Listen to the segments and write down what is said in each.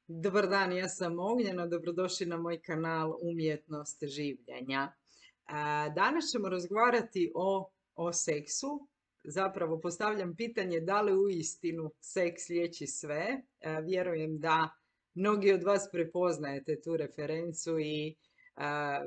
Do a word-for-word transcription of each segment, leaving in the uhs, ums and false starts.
Dobar dan, ja sam Ognjena, dobrodošli na moj kanal Umjetnost življenja. A, Danas ćemo razgovarati o, o seksu. Zapravo postavljam pitanje da li uistinu seks liječi sve. A, Vjerujem da mnogi od vas prepoznajete tu referencu i a,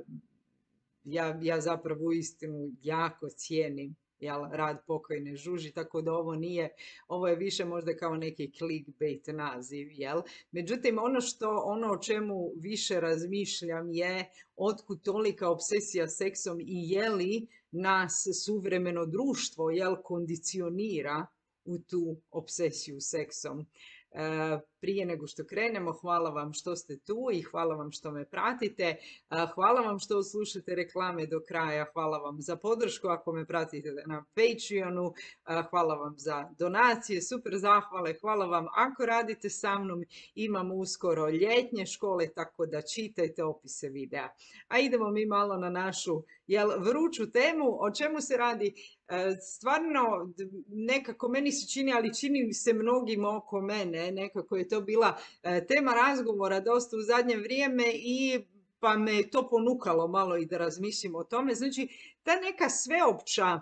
ja, ja zapravo uistinu jako cijenim jel, rad pokojne Žuži, tako da ovo nije, ovo je više možda kao neki clickbait naziv, jel? Međutim, ono što, ono o čemu više razmišljam je otkud tolika obsesija seksom i je li nas suvremeno društvo, jel, kondicionira u tu obsesiju seksom. E, Prije nego što krenemo, hvala vam što ste tu i hvala vam što me pratite. E, Hvala vam što slušate reklame do kraja. Hvala vam za podršku ako me pratite na Patreonu. E, Hvala vam za donacije, super zahvale. Hvala vam ako radite sa mnom. Imam uskoro ljetnje škole, tako da čitajte opise videa. A idemo mi malo na našu jel, vruću temu. O čemu se radi? E, Stvarno, nekako meni se čini, ali čini se mnogim oko mene, nekako je to bila e, tema razgovora dosta u zadnje vrijeme i pa me je to ponukalo malo i da razmislim o tome. Znači, ta neka sveopća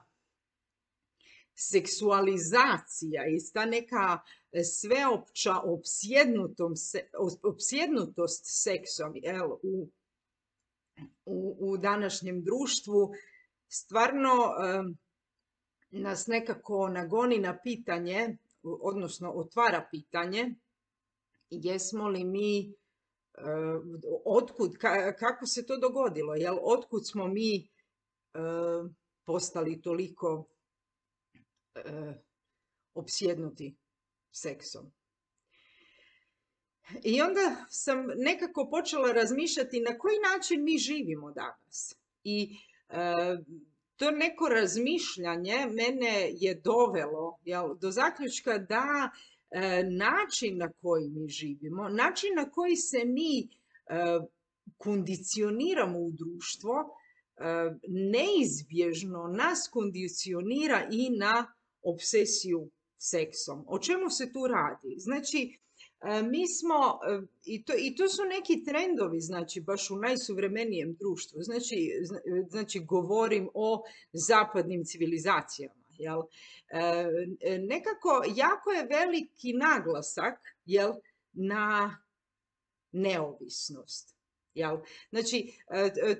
seksualizacija i ta neka sveopća opsjednutost seksom jel, u, u, u današnjem društvu stvarno um, nas nekako nagoni na pitanje, odnosno otvara pitanje, jesmo li mi, uh, otkud, ka, kako se to dogodilo, jel, otkud smo mi uh, postali toliko uh, opsjednuti seksom. I onda sam nekako počela razmišljati na koji način mi živimo danas. I uh, to neko razmišljanje mene je dovelo jel, do zaključka da e, način na koji mi živimo, način na koji se mi e, kondicioniramo u društvo, e, neizbježno nas kondicionira i na obsesiju seksom. O čemu se tu radi? Znači, mi smo, i to, i to su neki trendovi, znači baš u najsuvremenijem društvu, znači, znači govorim o zapadnim civilizacijama, jel? E, nekako jako je veliki naglasak, jel, na neovisnost. Jel? Znači,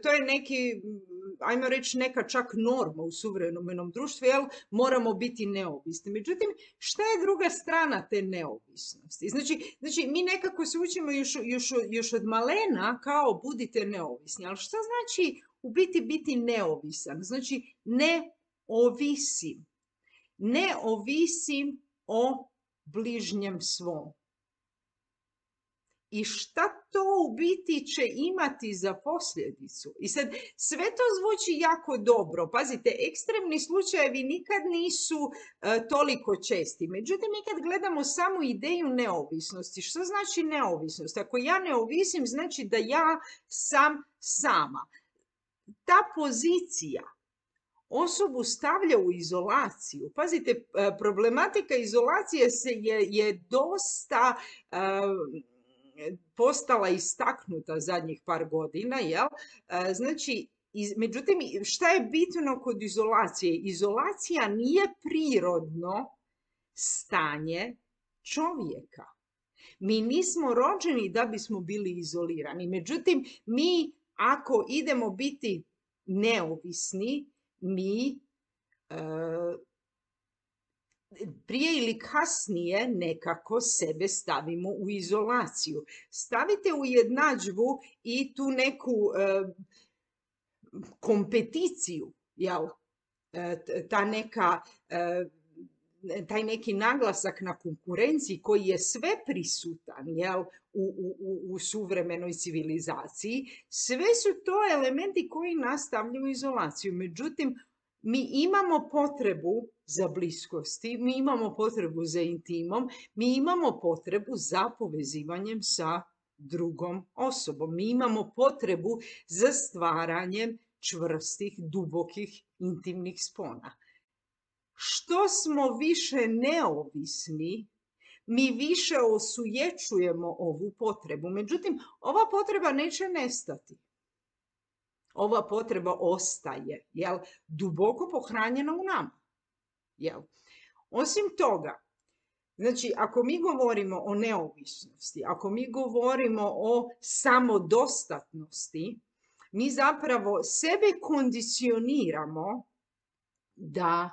to je neki, ajmo reći, neka čak norma u suvremenom društvu, jel? Moramo biti neovisni. Međutim, šta je druga strana te neovisnosti? Znači, znači mi nekako se učimo još, još, još od malena kao budite neovisni. Ali šta znači u biti biti neovisan? Znači, ne ovisim. Ne ovisim o bližnjem svom. I šta to u biti će imati za posljedicu? I sad, sve to zvuči jako dobro. Pazite, ekstremni slučajevi nikad nisu uh, toliko česti. Međutim, mi kad gledamo samu ideju neovisnosti, što znači neovisnost? Ako ja ne ovisim, znači da ja sam sama. Ta pozicija osobu stavlja u izolaciju. Pazite, problematika izolacije se je, je dosta uh, postala istaknuta zadnjih par godina, jel? Znači, iz, međutim, šta je bitno kod izolacije? Izolacija nije prirodno stanje čovjeka. Mi nismo rođeni da bismo bili izolirani. Međutim, mi ako idemo biti neovisni, mi uh, prije ili kasnije nekako sebe stavimo u izolaciju. Stavite u jednadžbu i tu neku e, kompeticiju, jel? E, ta neka, e, taj neki naglasak na konkurenciji koji je sve prisutan, jel? U, u, u suvremenoj civilizaciji. Sve su to elementi koji nas stavljaju u izolaciju. Međutim, mi imamo potrebu za bliskosti, mi imamo potrebu za intimom, mi imamo potrebu za povezivanjem sa drugom osobom. Mi imamo potrebu za stvaranjem čvrstih, dubokih, intimnih spona. Što smo više neovisni, mi više osujećujemo ovu potrebu. Međutim, ova potreba neće nestati. Ova potreba ostaje, jel, duboko pohranjena u nama. Jel. Osim toga, znači, ako mi govorimo o neovisnosti, ako mi govorimo o samodostatnosti, mi zapravo sebe kondicioniramo da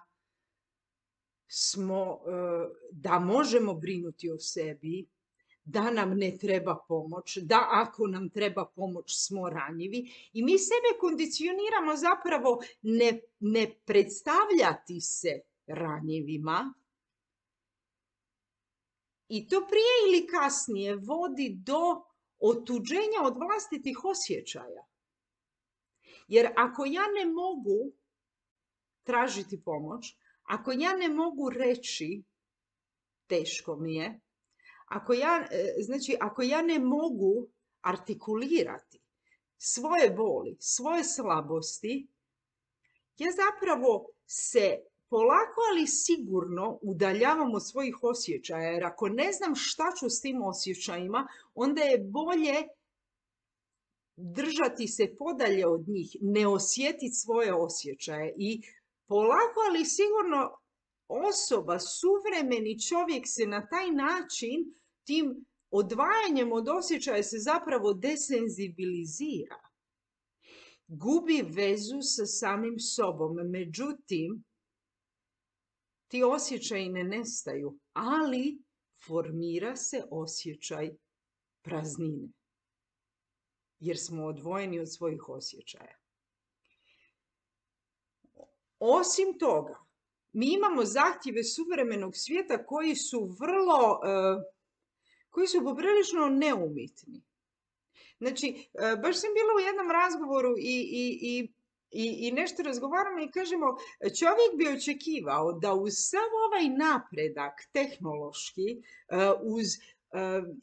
smo, da možemo brinuti o sebi, da nam ne treba pomoć, da ako nam treba pomoć smo ranjivi i mi sebe kondicioniramo zapravo ne, ne predstavljati se ranjivima i to prije ili kasnije vodi do otuđenja od vlastitih osjećaja. Jer ako ja ne mogu tražiti pomoć, ako ja ne mogu reći teško mi je, ako ja, znači, ako ja ne mogu artikulirati svoje boli, svoje slabosti, ja zapravo se polako ali sigurno udaljavam od svojih osjećaja, jer ako ne znam šta ću s tim osjećajima, onda je bolje držati se podalje od njih, ne osjetiti svoje osjećaje i polako ali sigurno osoba, suvremeni čovjek se na taj način, tim odvajanjem od osjećaja se zapravo desenzibilizira. Gubi vezu sa samim sobom. Međutim, ti osjećaji ne nestaju, ali formira se osjećaj praznine. Jer smo odvojeni od svojih osjećaja. Osim toga, mi imamo zahtjeve suvremenog svijeta koji su vrlo, koji su poprilično neumitni. Znači, baš sam bila u jednom razgovoru i, i, i, i, i nešto razgovaramo i kažemo, čovjek bi očekivao da uz sav ovaj napredak tehnološki, uz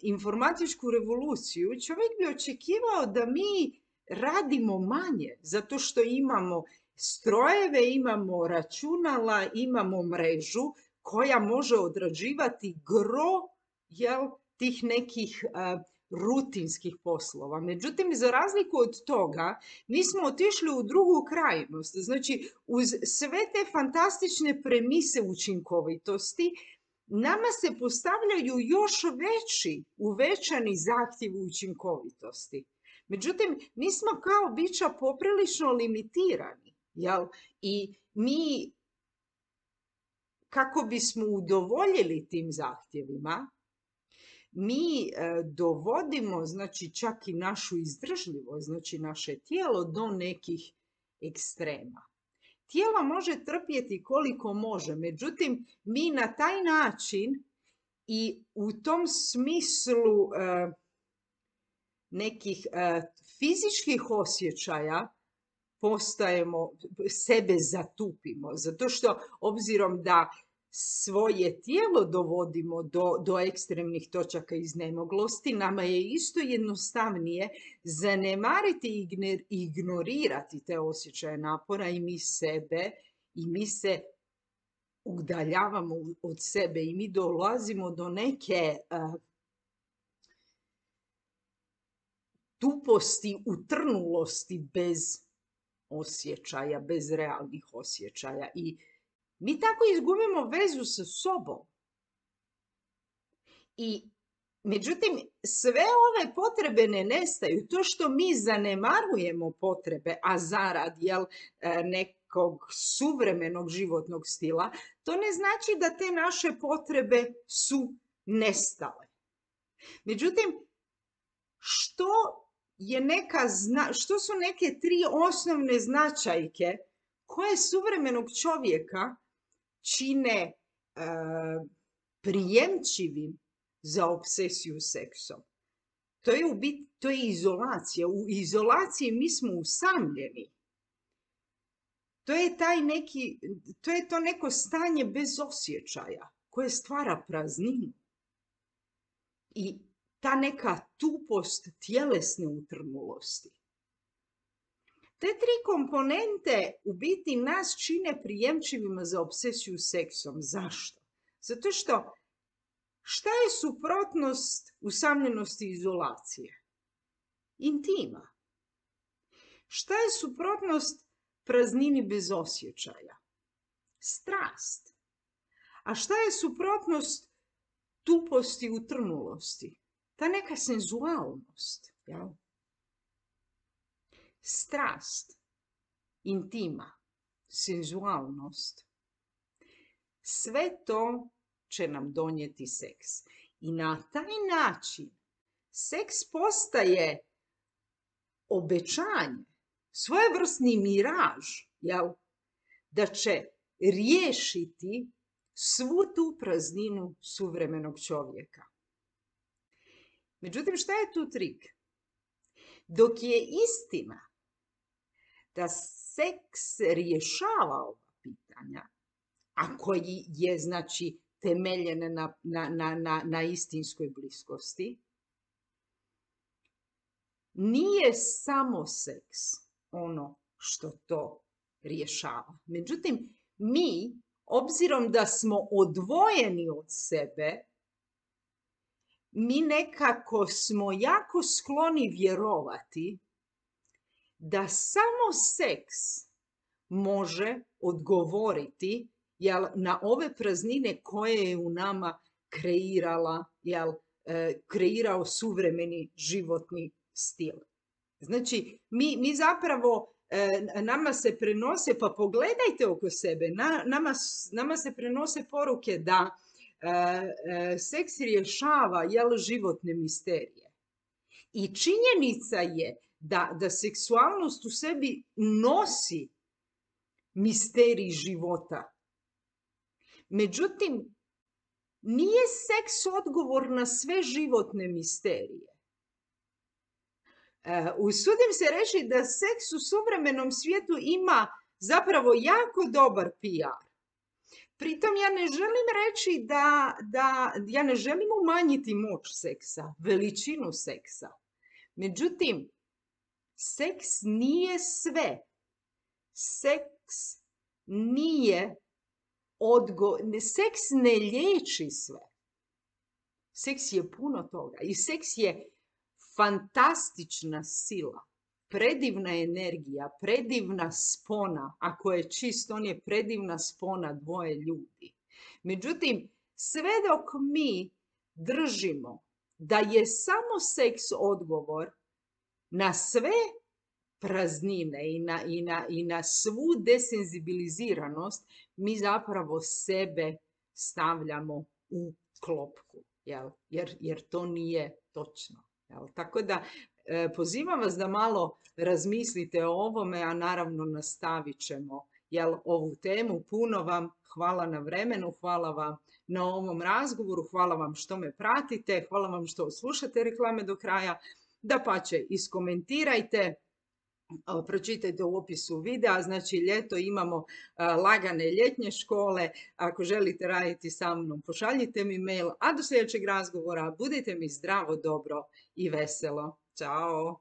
informatičku revoluciju, čovjek bi očekivao da mi radimo manje, zato što imamo strojeve, imamo računala, imamo mrežu koja može odrađivati gro, jel, tih nekih uh, rutinskih poslova. Međutim, za razliku od toga, mi smo otišli u drugu krajnost. Znači, uz sve te fantastične premise učinkovitosti, nama se postavljaju još veći, uvećani zahtjevi učinkovitosti. Međutim, mi smo kao bića poprilično limitirani. Jel? I mi, kako bismo udovoljili tim zahtjevima, mi e, dovodimo, znači, čak i našu izdržljivost, znači naše tijelo do nekih ekstrema. Tijelo može trpjeti koliko može, međutim, mi na taj način i u tom smislu e, nekih e, fizičkih osjećaja postajemo, sebe zatupimo, zato što obzirom da svoje tijelo dovodimo do, do ekstremnih točaka iznemoglosti, nama je isto jednostavnije zanemariti i ignorirati te osjećaje napora i mi sebe, i mi se udaljavamo od sebe i mi dolazimo do neke uh, tuposti, utrnulosti bez osjećaja, bez realnih osjećaja. I mi tako izgubimo vezu sa sobom. I, međutim, sve ove potrebe ne nestaju. To što mi zanemarujemo potrebe, a zarad, jel, nekog suvremenog životnog stila, to ne znači da te naše potrebe su nestale. Međutim, što je neka, što su neke tri osnovne značajke koje suvremenog čovjeka čine e, prijemčivim za obsesiju seksom? To je, u biti, to je izolacija. U izolaciji mi smo usamljeni. To je, taj neki, to je to neko stanje bez osjećaja koje stvara prazninu. I ta neka tupost tjelesne utrnulosti. Te tri komponente u biti nas čine prijemčivima za obsesiju seksom. Zašto? Zato što Šta je suprotnost usamljenosti i izolacije? Intima. Šta je suprotnost praznini bez osjećaja? Strast. A šta je suprotnost tuposti i utrnulosti? Ta neka senzualnost. Jel? Strast, intima, senzualnost. Sve to će nam donijeti seks. I na taj način seks postaje obećanje, svojevrsni miraž, jel? Da će riješiti svu tu prazninu suvremenog čovjeka. Međutim, šta je tu trik? Dok je istina da seks rješava ova pitanja, a koji je, znači, temeljen na, na, na, na, na istinskoj bliskosti, nije samo seks ono što to rješava. Međutim, mi, obzirom da smo odvojeni od sebe, mi nekako smo jako skloni vjerovati da samo seks može odgovoriti, jel, na ove praznine koje je u nama kreirala, jel, kreirao suvremeni životni stil. Znači, mi, mi zapravo, nama se prenose, pa pogledajte oko sebe, na, nama, nama se prenose poruke da e, seks rješava, jel, životne misterije. I činjenica je da, da seksualnost u sebi nosi misterij života. Međutim, nije seks odgovor na sve životne misterije. E, usudim se reći da seks u suvremenom svijetu ima zapravo jako dobar P R. Pritom ja ne želim reći da, da ja ne želim umanjiti moć seksa, veličinu seksa. Međutim, seks nije sve. Seks nije odgo... Seks ne liječi sve. Seks je puno toga i seks je fantastična sila, predivna energija, predivna spona. Ako je čist, on je predivna spona dvoje ljudi. Međutim, sve dok mi držimo da je samo seks odgovor na sve praznine i na, i na, i na svu desenzibiliziranost, mi zapravo sebe stavljamo u klopku, jel? Jer, jer to nije točno. Jel? Tako da e, pozivam vas da malo razmislite o ovome, a naravno nastavit ćemo, jel, ovu temu. Puno vam hvala na vremenu, hvala vam na ovom razgovoru, hvala vam što me pratite, hvala vam što slušate reklame do kraja. Dapače, iskomentirajte, pročitajte u opisu videa. Znači, ljeto imamo lagane ljetnje škole. Ako želite raditi sa mnom, pošaljite mi mail. A do sljedećeg razgovora budite mi zdravo, dobro i veselo. Ćao!